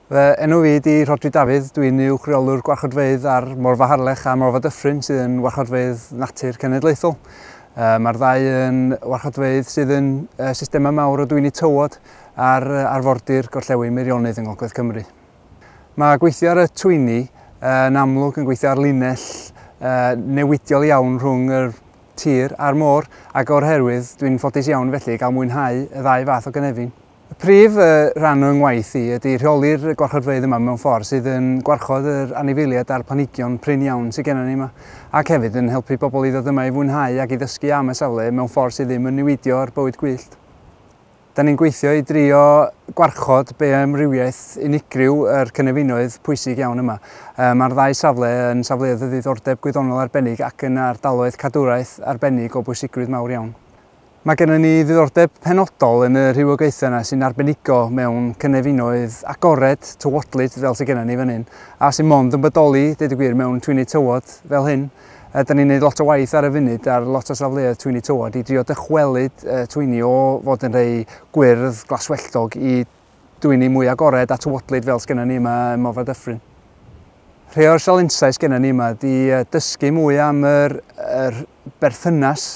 Fy enw fi ydi Rhodri Dafydd, dwi'n uwch reolwr gwarchodfeydd ar Morfa Harlech a Morfa Dyffryn sydd yn warchodfeydd natur cenedlaethol. Mae'r ddau yn warchodfeydd sydd yn systemau mawr o dwyni tywod ar arfordir gorllewin Meirionnydd yng Ngogledd Cymru. Mae gweithio ar y twyni yn amlwg yn gweithio ar linell newidiol iawn rhwng yr tir a'r môr, ac o'r herwydd dwi'n ffodus iawn felly i gael mwynhau y ddau fath o gynefin. Y prif rhan o'n ngwaith i ydy rheoli'r gwarchodfeydd yma mewn ffordd sydd yn gwarchod yr anifeiliaid a'r planhigion prin iawn sydd gennym ni yma, ac hefyd yn helpu bobl i ddod yma i fwynhau ac i ddysgu am y safle mewn ffordd sydd ddim yn niweidio'r bywyd gwyllt. Da ni'n gweithio i drio gwarchod bioamrywiaeth unigryw yr cynefinoedd pwysig iawn yma. Mae'r ddau safle yn safleoedd o ddiddordeb gwyddonol arbennig ac yn ardaloedd cadwraeth arbennig o bwysigrwydd mawr iawn. Mae gennym ni ddiddordeb penodol yn y rhywogaethau yna sy'n arbenigo mewn cynefinoedd agored, tywodlyd fel sydd gennym ni fan hyn, a sy'n mond yn bodoli, deud y gwir, mewn twyni tywod fel hyn. Da ni'n gwneud lot o waith ar y funud ar lot o safleoedd twyni tywod i drio dychwelyd twyni o fod yn rhai gwyrdd, glaswelltog i dwyni mwy agored a tywodlyd fel sydd gennym ni yma ym Morfa Dyffryn. Rhai o'r sialensau sydd gennym ni yma ydy dysgu mwy am yr berthynas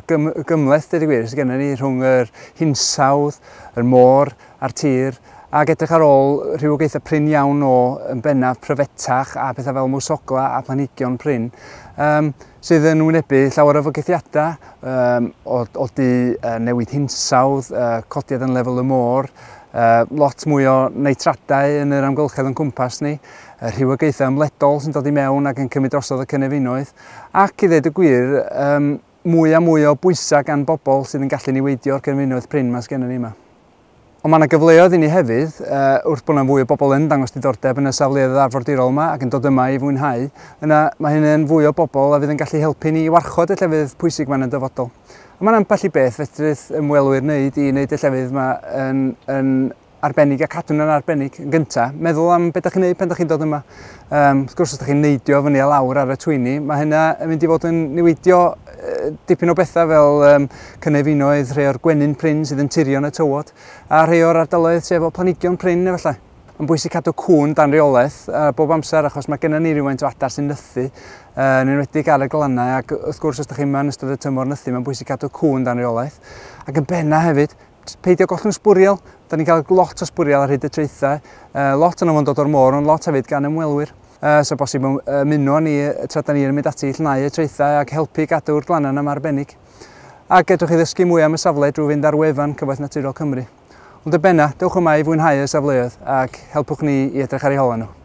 gymhleth, deud y gwir, sydd gennym ni rhwng yr hinsawdd, yr môr a'r tir, ac edrych ar ôl rhywogaethau prin iawn o yn bennaf pryfetach a pethau fel mwsogla a planhigion prin, sydd yn wynebu llawer o fygythiadau o du newid hinsawdd, codiad yn lefel y môr, lot mwy o nitradau yn yr amgylchedd o'n cwmpas ni, rhywogaethau ymledol sy'n dod i mewn ac yn cymryd drosodd y cynefinoedd, ac i ddweud y gwir, mwy a mwy o bwysau gan bobl sydd yn gallu niweidio'r cynefinoedd prin ma sgennym ni yma. Ond mae yna gyfleoedd i ni hefyd, wrth bod yna fwy o bobl yn dangos diddordeb yn y safleoedd arfordirol yma ac yn dod yma i fwynhau, yna mae hyn yn fwy o bobl a fydd yn gallu helpu ni i warchod y llefydd pwysig yma yn y dyfodol. A mae'n ambell i beth fedrith ymwelwyr wneud i wneud y llefydd yma yn arbennig a cadw nhw'n arbennig. Yn gyntaf, meddwl am beth ydych chi'n gwneud pan ydych chi'n dod yma. Wrth gwrs, os ydych chi'n neidio fyny a lawr ar y twyni, mae hynna yn mynd i fod yn niweidio dipyn o bethau fel cynefinoedd, rhai o'r gwenyn prin sydd yn turio yn y tywod, a rhai o'r ardaloedd sydd efo planhigion prin efallai. Mae'n bwysig cadw cŵn dan reolaeth bob amser, achos mae gennym ni rywfaint o adar sy'n nythu, yn enwedig ar y glannau, ac wrth gwrs os ydych chi'n yma yn ystod y tymor nythu, mae'n bwysig cadw cŵn dan reolaeth. Ac yn benna hefyd, peidio gollwng sbwriel. Da ni'n cael lot o sbwriel ar hyd y traethau, lot o'n nhw'n dod o'r môr, ond lot hefyd gan ymwelwyr. So bosib ymuno ni tra da ni'n mynd ati i llnau y traethau ac helpu gadw'r glannau yma arbennig. Ac edrych i ddysgu mwy am y safle drwy fynd ar wefan Cyfoeth Naturiol Cymru. Ond y benna, dewch yma i fwynhau y safleoedd ac helpwch ni i edrych ar eu holau nhw.